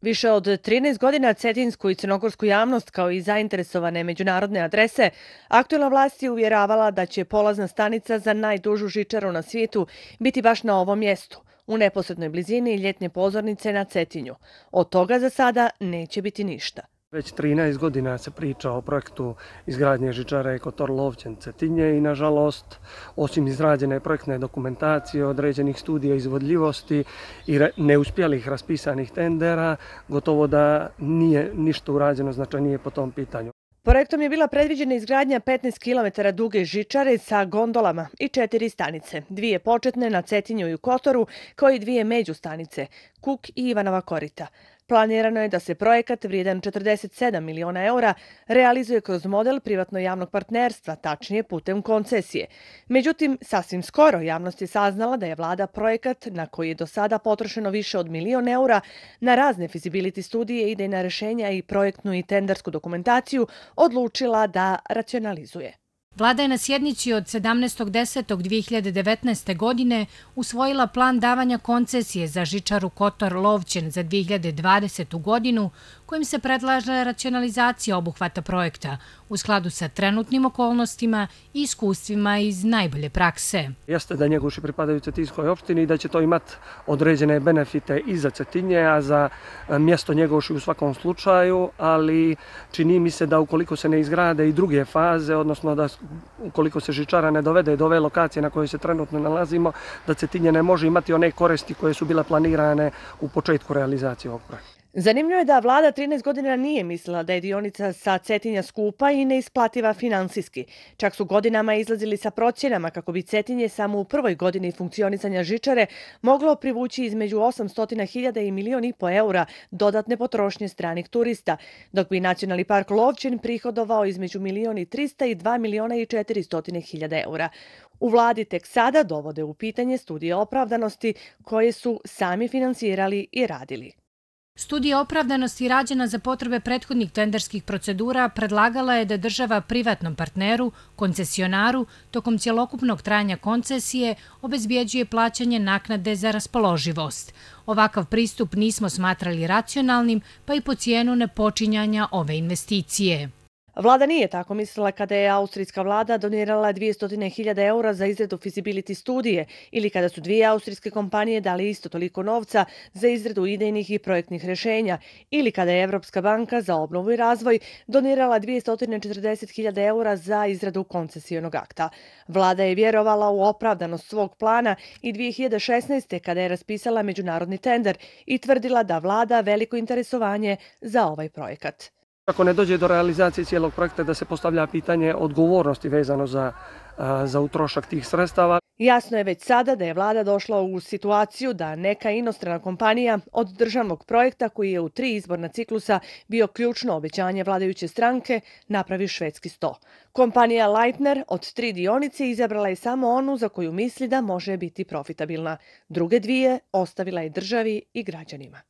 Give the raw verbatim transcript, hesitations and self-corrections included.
Više od trinaest godina cetinsku i crnogorsku javnost kao i zainteresovane međunarodne adrese, aktuelna vlast je uvjeravala da će polazna stanica za najdužu žičaru na svijetu biti baš na ovom mjestu, u neposrednoj blizini ljetne pozornice na Cetinju. Od toga za sada neće biti ništa. Već trinaest godina se priča o projektu izgradnje žičare Kotor-Lovćen-Cetinje i nažalost, osim izrađene projektne dokumentacije, određenih studija izvodljivosti i neuspjelih raspisanih tendera, gotovo da nije ništa urađeno značajnije po tom pitanju. Projektom je bila predviđena izgradnja petnaest kilometara duge žičare sa gondolama i četiri stanice, dvije početne na Cetinju i u Kotoru, kao i dvije međustanice, Kuk i Ivanova Korita. Planirano je da se projekat vrijedan četrdeset sedam miliona eura realizuje kroz model privatno-javnog partnerstva, tačnije putem koncesije. Međutim, sasvim skoro javnost je saznala da je vlada projekat, na koji je do sada potrošeno više od milion eura, na razne feasibility studije, idejna rješenja i projektnu i tendersku dokumentaciju, odlučila da racionalizuje. Vlada je na sjednici od sedamnaestog desetog dve hiljade devetnaeste. godine usvojila plan davanja koncesije za žičaru Kotor-Lovćen za dve hiljade dvadesetu. godinu, kojim se predlaže racionalizacija obuhvata projekta u skladu sa trenutnim okolnostima i iskustvima iz najbolje prakse. Jeste da Njegoši pripadaju Cetinskoj opštini i da će to imati određene benefite i za Cetinje, a za mjesto Njegoši u svakom slučaju, ali čini mi se da ukoliko se ne izgrade i druge faze, odnosno da ukoliko se žičara ne dovede do ove lokacije na kojoj se trenutno nalazimo, da Cetinje ne može imati one koristi koje su bile planirane u početku realizacije ovog projekta. Zanimljivo je da vlada trinaest godina nije mislila da je dionica sa Cetinja skupa i neisplativa finansijski. Čak su godinama izlazili sa procjenama kako bi Cetinje samo u prvoj godini funkcionisanja žičare moglo privući između osamsto hiljada i milion i po eura dodatne potrošnje stranih turista, dok bi Nacionalni park Lovćen prihodovao između milion i trista i dva miliona i četiristo hiljada eura. U vladi tek sada dovode u pitanje studije opravdanosti koje su sami finansirali i radili. Studija opravdanosti rađena za potrebe prethodnih tenderskih procedura predlagala je da država privatnom partneru, koncesionaru, tokom cjelokupnog trajanja koncesije obezbjeđuje plaćanje naknade za raspoloživost. Ovakav pristup nismo smatrali racionalnim, pa i po cijenu nepočinjanja ove investicije. Vlada nije tako mislila kada je austrijska vlada donirala dvjesto hiljada eura za izradu feasibility studije ili kada su dvije austrijske kompanije dali isto toliko novca za izradu idejnih i projektnih rješenja ili kada je Evropska banka za obnovu i razvoj donirala dvjesto četrdeset hiljada eura za izradu koncesijonog akta. Vlada je vjerovala u opravdanost svog plana i dvije hiljade šesnaeste. kada je raspisala međunarodni tender i tvrdila da vlada veliko interesovanje za ovaj projekat. Ako ne dođe do realizacije cijelog projekta, da se postavlja pitanje odgovornosti vezano za, za utrošak tih sredstava. Jasno je već sada da je vlada došla u situaciju da neka inostrana kompanija od državnog projekta, koji je u tri izborna ciklusa bio ključno obećanje vladajuće stranke, napravi švedski sto. Kompanija Leitner od tri dionice izabrala je samo onu za koju misli da može biti profitabilna. Druge dvije ostavila je državi i građanima.